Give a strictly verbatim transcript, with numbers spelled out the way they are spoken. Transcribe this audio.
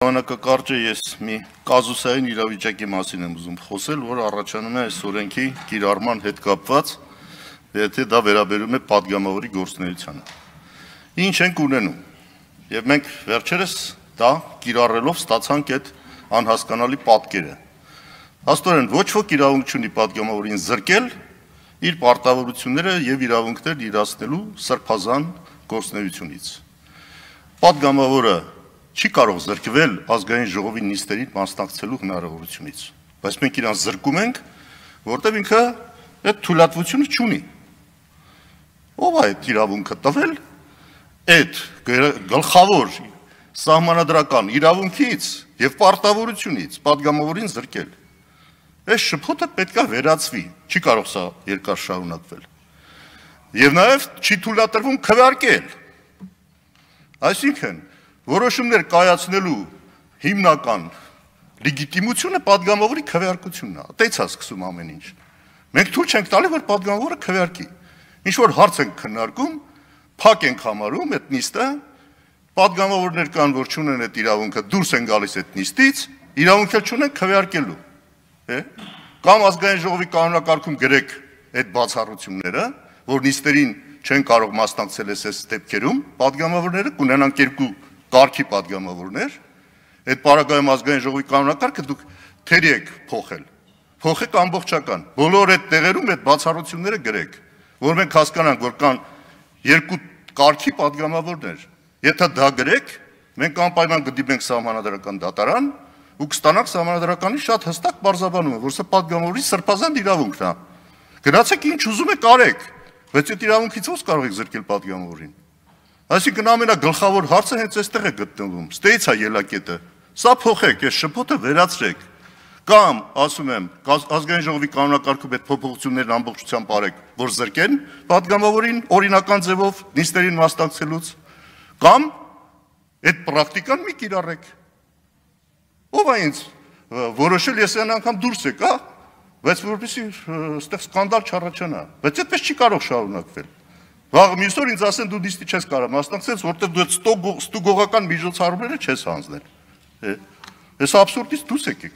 Ժամանակակարճ է ես մի կազուսային իրավիճակի մասին եմ ուզում խոսել, որ առաջանում է այս օրենքի կիրառման հետ կապված, եթե դա վերաբերում է պատգամավորի գործունեությանը։ Ինչ ենք ունենում, եւ մենք վերջերս դա կիրառելով ստացանք այդ անհասկանալի պատկերը։ Հաստորեն ոչ ոք իրավունք չունի պատգամավորին զրկել իր պարտավորությունները եւ իրավունքներ իրացնելու սրբազան գործունեությունից։ Պատգամավորը չի կարող զրկվել ազգային ժողովի նիստերին մասնակցելու հնարավորությունից, բայց մենք իրան զրկում ենք, որտեղ ինքը այդ թույլատվությունը չունի։ Ո՞վ է այդ իրավունքը տվել, այդ գլխավոր սահմանադրական իրավունքից եւ պարտավորությունից պատգամավորին զրկել։ Այս շփոթը պետք է վերացվի, չի կարող սա երկար շարունակվել։ Եվ նաեւ չի թույլատրվում քվեարկել։ Այսինքն որոշումներ կայացնելու հիմնական լեգիտիմությունը պատգամավորի քվեարկությունն է, այդից է սկսում ամեն ինչ։ Մենք թույլ չենք տալի, որ պատգամավորը քվեարկի։ Ինչ որ հարց ենք քննարկում, փակ ենք համարում այդ նիստը, պատգամավորներ կան, որ չունեն այդ իրավունքը, դուրս են գալիս այդ նիստից, իրավունք էլ չունեն քվեարկելու, է։ Կամ ազգային ժողովի կանոնակարգում գրեք այդ բացառությունները, որ նիստերին չեն կարող մասնակցել այս դեպքերում, պատգամավորները կունենան երկու կարգի պատգամավորներ, այդ պարագայում ազգային ժողովի կանոնակարգը դուք թերի եք փոխել, փոխեք ամբողջական, բոլոր այդ տեղերում այդ բացառությունները գրեք, որ մենք հասկանանք, որ կան երկու կարգի պատգամավորներ, եթե դա գրեք, մենք անպայման կդիմենք սահմանադրական դատարան ու կստանանք սահմանադրականի շատ հստակ բարձրաբանումը, որ սա պատգամավորի սրբազան իրավունքն է, գնացեք ինչ ուզում եք արեք, բայց այդ իրավունքից ո՞ց կարող եք զրկել պատգամավորին։ Այսինքն ամենագլխավոր հարցը հենց այստեղ է գտնվում, ստեից է ելակետը, սա փոխեք, այս շփոթը վերացրեք, կամ, ասում եմ, ազգային ժողովի կանոնակարգում այդ փոփոխություններն ամբողջությամբ արեք, որ զրկեն պատգամավորին օրինական ձևով նիստերին մասնակցելուց, կամ այդ պրակտիկան մի կիրառեք։ Ով է ինձ որոշել, ես այն անգամ դուրս եկա, բայց որպեսզի այստեղ սկանդալ չառաջանա, բայց այդպես չի կարող շարունակվել։ Վաղ մյուս օր ինձ ասեն դու նիստի չես կարող մասնակցել, որտեղ դու այդ ստուգողական միջոցառումները չես հանձնել։ Այս աբսուրդից դուրս եկեք։